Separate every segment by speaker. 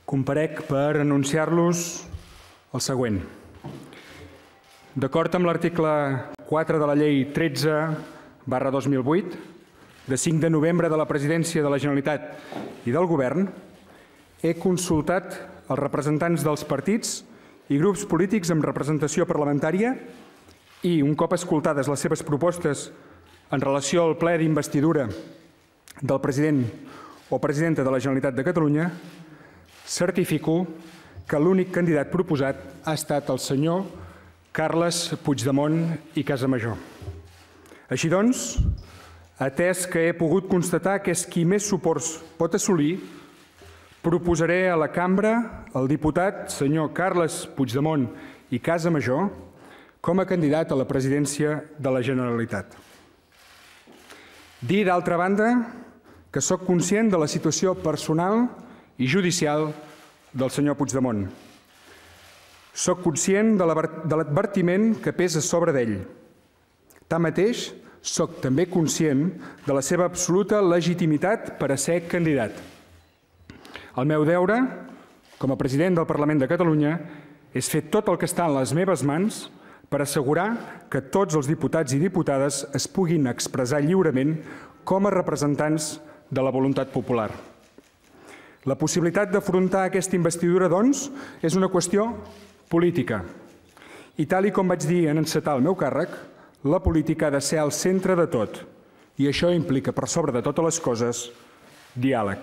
Speaker 1: Comparec per anunciar-los el següent. D'acord amb l'article 4 de la Llei 13/2008, de 5 de novembre de la Presidència de la Generalitat i del Govern, he consultat els representants dels partits i grups polítics amb representació parlamentària i, un cop escoltades les seves propostes en relació al ple d'investidura del president o presidenta de la Generalitat de Catalunya, certifico que l'únic candidat proposat ha estat el senyor Carles Puigdemont i Casamajó. Així doncs, atès que he pogut constatar que és qui més suports pot assolir, proposaré a la cambra el diputat senyor Carles Puigdemont i Casamajó com a candidat a la presidència de la Generalitat. Dir, d'altra banda, que sóc conscient de la situació personal i judicial del senyor Puigdemont. Sóc conscient de l'advertiment que pesa sobre d'ell. Tanmateix, sóc també conscient de la seva absoluta legitimitat per a ser candidat. El meu deure, com a president del Parlament de Catalunya, és fer tot el que està en les meves mans per assegurar que tots els diputats i diputades es puguin expressar lliurement com a representants de la voluntat popular. La possibilitat d'afrontar aquesta investidura, doncs, és una qüestió política. I tal com vaig dir en encetar el meu càrrec, la política ha de ser al centre de tot. I això implica, per sobre de totes les coses, diàleg.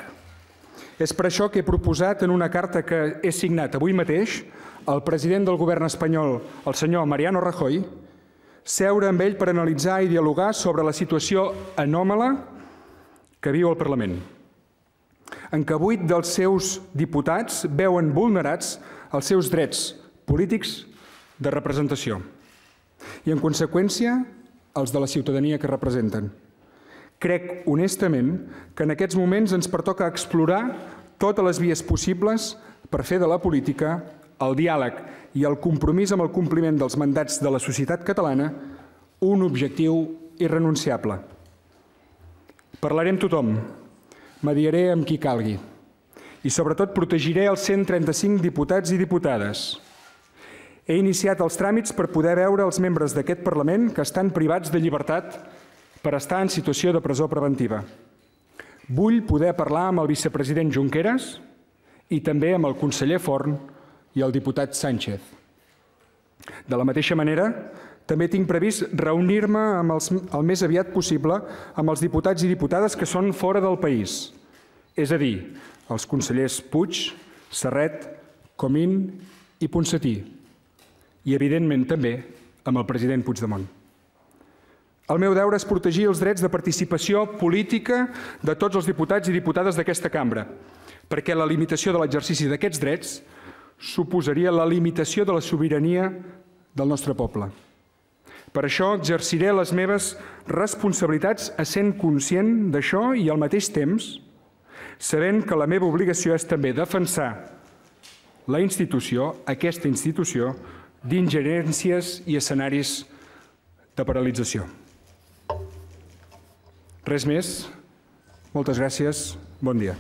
Speaker 1: És per això que he proposat en una carta que he signat avui mateix al president del govern espanyol, el senyor Mariano Rajoy, seure amb ell per analitzar i dialogar sobre la situació anòmala que viu el Parlament, en què 8 dels seus diputats veuen vulnerats els seus drets polítics de representació i, en conseqüència, els de la ciutadania que representen. Crec, honestament, que en aquests moments ens pertoca explorar totes les vies possibles per fer de la política, el diàleg i el compromís amb el compliment dels mandats de la societat catalana un objectiu irrenunciable. Parlaré amb tothom, mediaré amb qui calgui i, sobretot, protegiré els 135 diputats i diputades. He iniciat els tràmits per poder veure els membres d'aquest Parlament que estan privats de llibertat per estar en situació de presó preventiva. Vull poder parlar amb el vicepresident Junqueras i també amb el conseller Forn i el diputat Sánchez. De la mateixa manera, també tinc previst reunir-me el més aviat possible amb els diputats i diputades que són fora del país, és a dir, els consellers Puig, Serret, Comín i Ponsatí, i, evidentment, també amb el president Puigdemont. El meu deure és protegir els drets de participació política de tots els diputats i diputades d'aquesta cambra, perquè la limitació de l'exercici d'aquests drets suposaria la limitació de la sobirania del nostre poble. Per això exerciré les meves responsabilitats essent conscient d'això i, al mateix temps, sabent que la meva obligació és també defensar la institució, aquesta institució, d'ingerències i escenaris de paralització. Res més. Moltes gràcies. Bon dia.